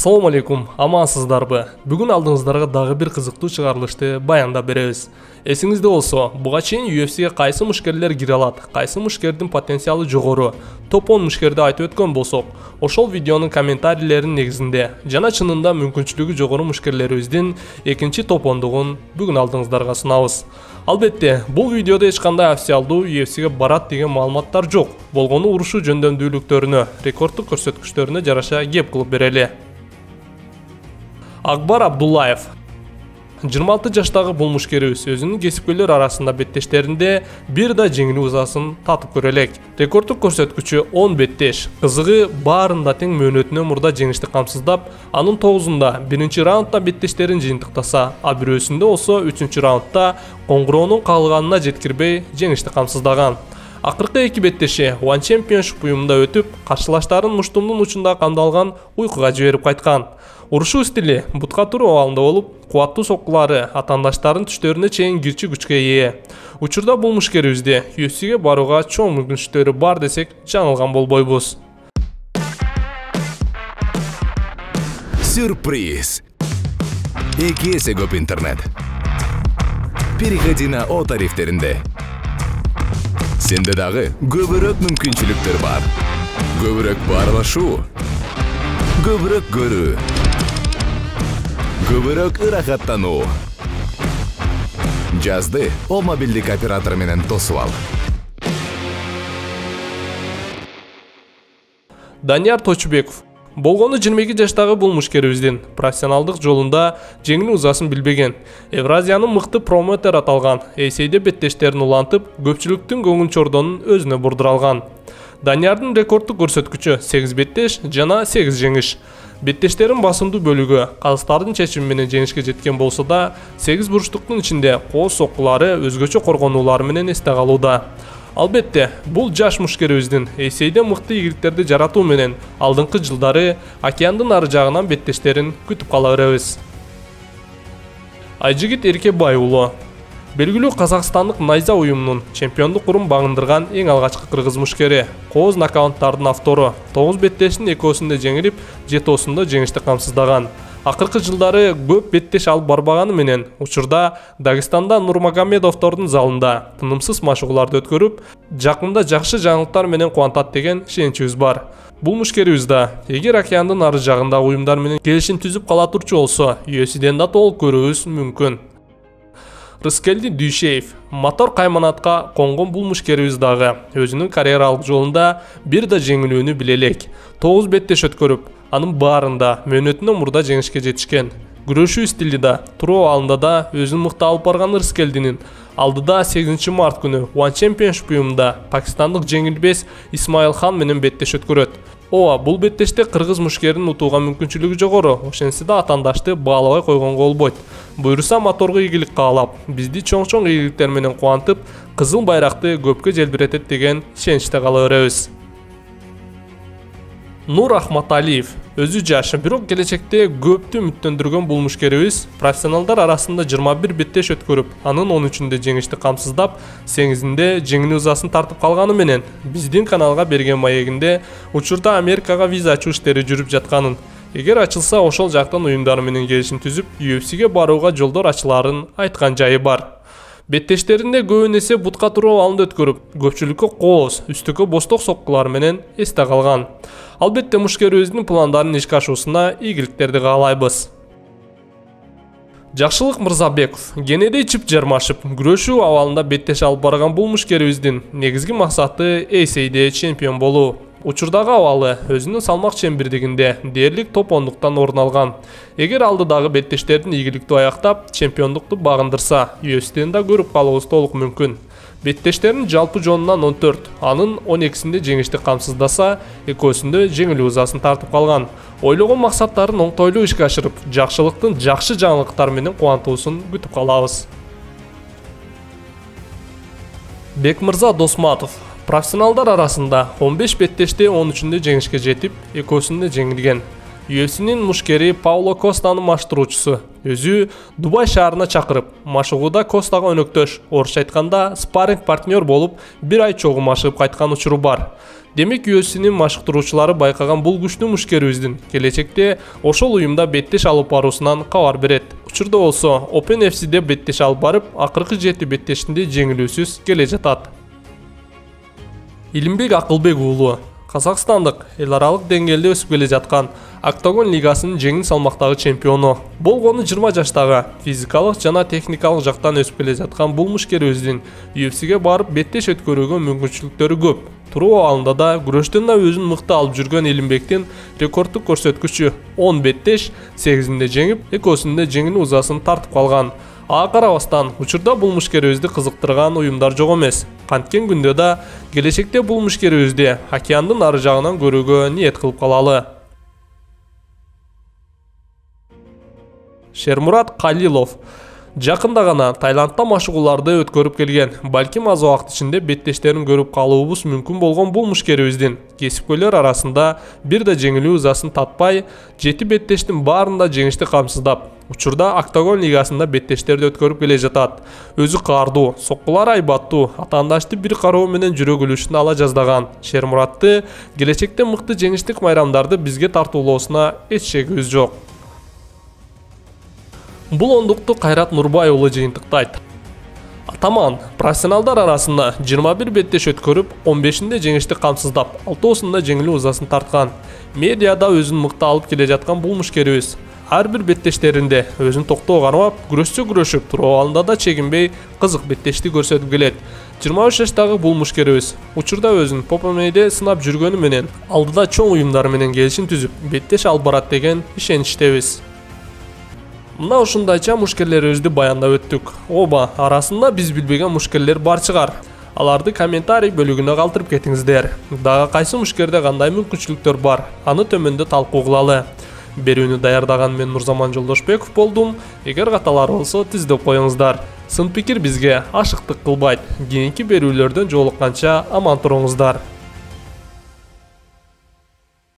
Assalamu alaikum, амансыздарбы? Бүгүн алдыңыздарга дагы бир кызыктуу чыгарылышты баяндап беребиз. Эсиңизде болсо, буга чейин UFC'ге кайсы мушкерлер кире алат, кайсы мушкердин потенциалы жогору, топ 10 мушкерди айтып өткөн болсок, ошол видеонун комментарийлеринин негизинде жана чынында мүмкүнчүлүгү жогору мушкерлерибиздин экинчи топ 10-дугун бүгүн алдыңыздарга сунабыз. Албетте, бул видеодо эч кандай официалдуу UFC'ге барат деген маалыматтар жок. Болгону урушу жөндөмдүүлүктөрүнө, рекорддук көрсөткүчтөрүнө жараша кеп кылып берели. Акбар Абдуллаев 26 жаштагы бул мушкерибиз өзүнүн кесипкөйлөр арасында беттештеринде бир да жеңил узасын татып көрө элек. Рекорддук көрсөткүчү 10 беттеш. Кызыгы баарында тең мөөнөтүнөн мурда жеңишти камсыздап, анын 9-унда биринчи раундда беттештерин жыйынтыктаса, а бирөөсүндө болсо 3-чү раундда коңгуроонун калганына жеткирбей жеңишти камсыздаган. Акыркы эки беттеши One Championship уюмунда өтүп, каршылаштарын муштумдун учунда камдалган уйкуга жиберип кайткан. Урушуу стили бутка туруу абалында болуп, кубаттуу соккулары атаандаштардын түштөрүнө чейин кирчи күчкө ээ. Учурда бул мушкерибизде UFC'ге барууга чоң мүмкүнчүлүктөрү бар десек, жаңылган болбойбуз. Сюрприз! 2 эсе көп интернет. Переходи на О тарифтеринде. Сенде дагы көбүрөөк мүмкүнчүлүктөр бар. Көбүрөөк баарлашуу, көбүрөөк көрүү, көбүрөөк ырахаттануу. Жазды О мобилдик оператор менен тосуп ал. Данияр Точубеков болгону 22 жаштагы бул мушкерибиздин профессионалдык жолунда жеңил узасын билбеген. Евразиянын мыкты промоутер аталган эйсейде беттештерин улантып, көпчүлүктүн көңүл чордонун өзүнө бурдура алган. Даниярдын рекорддук көрсөткүчү 8 беттеш жана 8 жеңиш. Беттештерин басымдуу бөлүгү казактардын чечими менен жеңишке жеткен болсо да, 8 бурчтуктун ичинде кооз соккулары өзгөчө коргонуулары менен эсте калууда. Албетте, бул жаш мушкерибиздин эйсейде мыкты ийгиликтерди жаратуу менен алдыңкы жылдары океандын ары жагынан беттештерин күтүп кала беребиз. Айжигит Эркебай уулу белгилүү казакстандык найза уюмунун чемпиондук урун багындырган эң алгачкы кыргыз мушкери, кооз нокауттардын автору, 9 беттештин экөөсүндө жеңилип, 7-осунда жеңишти камсыздаган. Акыркы жылдары көп беттеш алып барбаганы менен учурда Дагестанда Нурмагомедовдордун залында тынымсыз машыгууларды өткөрүп, жакында жакшы жаңылыктар менен кубантат деген ишеничибиз бар. Бул мушкерибиз да эгер океандын ары жагындагы уюмдар менен келишим түзүп кала турчу болсо, UFC'ден да толук көрүүбүз мүмкүн. Рыскелди Дүйшеев мотор кайманатка конгон бул мушкерибиз дагы өзүнүн карьералык жолунда бир да жеңилүүнү биле элек. 9 беттеш өткөрүп, анын баарында мөөнөтүнөн мурда жеңишке жетишкен. Күрөшүү стили да, туруу абалында да өзүн мыкты алып барган Рыскелдинин алдыда 8 март күнү One Championship уюмунда пакистандык жеңилбес Исмаил Хан менен беттеш өткөрөт. Ооба, бул беттеште кыргыз мушкеринин утууга мүмкүнчүлүгү жогору, ошентсе да атаандашты баалабай койгонго болбойт. Буйруса моторго ийгилик каалап, бизди чоң-чоң ийгиликтер менен кубантып, кызыл байракты көпкө желбиретет деген ишеничте кала беребиз. Нур Ахматалиев өзү жаш, бирок келечекте көптү үмүттөндүргөн бул мушкерибиз профессионалдар арасында 21 беттеш өткөрүп, анын 13-үндө жеңишти камсыздап, 8-inde жеңил узасын тартып калганы менен биздин каналга берген маегинде учурда Америкага виза ачуу иштери жүрүп жатканын, эгер ачылса ошол жактан уюмдар менен келишим түзүп, UFC'ге барууга жолдор ачыларын айткан жайы бар. Беттештеринде көбүн эсе бутка туруу абалында өткөрүп, көпчүлүккө кооз, үстүккө босток соккулар менен эсте калган. Албетте мушкерибиздин пландарын ишке ашуусуна ийгиликтерди каалайбыз. Жакшылык Мырзабеков кенеде ичип жармашып, күрөшүү абалында беттеш алып барган бул мушкерибиздин негизги максаты эйсейде чемпион болуу. Учурдагы абалы өзүнүн салмак чембирдигинде дээрлик топ 10-дуктан орун алган. Эгер алдыдагы беттештердин ийгиликтүү аяктап, чемпиондукту багындырса, UFC'ден да көрүп калуубуз толук мүмкүн. Беттештерин жалпы жонунан 14, анын 12-синде жеңишти камсыздаса, экөөсүндө жеңил узасын тартып калган. Ойлогон максаттарын оңтойлуу ишке ашырып, жакшылыктын жакшы жаңылыктар менен кубантуусун күтүп калабыз. Бекмырза Досматов профессионалдар арасында 15 беттеште 13-үндө жеңишке жетип, экөөсүндө жеңилген. UFC'нин мушкери Пауло Костанын маштыруучусу, өзү Дубай шаарына чакырып, машыгууда Костага өнөктөш, орусча айтканда спарринг партнер болуп, 1 ай чогуу машыгып кайткан учуру бар. Демек UFC'нин машыктыруучулары байкаган бул күчтүү мушкерибиздин келечекте ошол уюмда беттеш алып баруусунан кабар берет. Учурда болсо Open FC'де беттеш алып барып, акыркы 7 беттешинде жеңилүүсүз келе жатат. Илимбек Акылбек уулу Казакстандык эл аралык деңгээлде өсүп келе жаткан Октагон лигасынын жеңил салмактагы чемпиону. Болгону 20 жаштагы физикалык жана техникалык жактан өсүп келе жаткан бул мушкерибиздин UFC'ге барып беттеш өткөрүүгө мүмкүнчүлүктөрү көп. Туруу абалында да күрөштөн да өзүн мыкты алып жүргөн Илимбектин рекорддук көрсөткүчү 10 беттеш, 8-inde жеңип, 2-синде жеңил узасын тартып калган. Ага карабастан, учурда бул мушкерибизди кызыктырган уюмдар жок эмес. Канткен күндө да келечекте бул мушкерибизди океандын ары жагынан көрүүгө ниет кылып калалы. Шермурат Калилов жакында гана Таиландда машыгууларды өткөрүп келген. Балким аз убакыт ичинде беттештерин көрүп калуубуз мүмкүн болгон бул мушкерибиздин кесипкөйлөр арасында бир да жеңилүү ызасын татпай, 7 беттештин баарында жеңишти камсыздап, учурда Октагон лигасында беттештерди өткөрүп келе жатат. Өзү каардуу, соккулары айбаттуу, атаандашты бир кароо менен жүрөгүлүшүн ала жаздаган Шермуратты келечекте мыкты жеңиштик майрамдарды бизге тартуулоосуна эч шегибиз жок. Бул ондукту Кайрат Нурбай уулу жыйынтыктайт. Атаман профессионалдар арасында 21 беттеш өткөрүп, 15-inde жеңишти камсыздап, 6-сында жеңилүү узасын тарткан. Медиада өзүн мыкты алып келе жаткан бул мушкерибиз ар бир беттештеринде өзүн токтоо кармап, күрөшүп туруу абалында да чегинбей кызык беттешти көрсөтүп келет. 23 жаштагы бул мушкерибиз учурда өзүн ППМ'де сынап жүргөнү менен, алдыда чоң уюмдар менен келишим түзүп, беттеш алып барат деген ишеничтебиз. Мына ушундайча мушкерлерибизди баяндап өттүк. Оба, арасында биз билбеген мушкерлер бар чыгар. Аларды комментарий бөлүгүнө калтырып кетиңиздер. Дагы кайсы мушкерде кандай мүмкүнчүлүктөр бар, аны төмөндө талкуу кылалы. Берүүнү даярдаган мен Нурзаман Жолдошбеков болдум. Эгер каталар болсо тиздеп коюңуздар. Сын пикир бизге ашыктык кылбайт. Кийинки берүүлөрдөн жолукканча аман туруңуздар.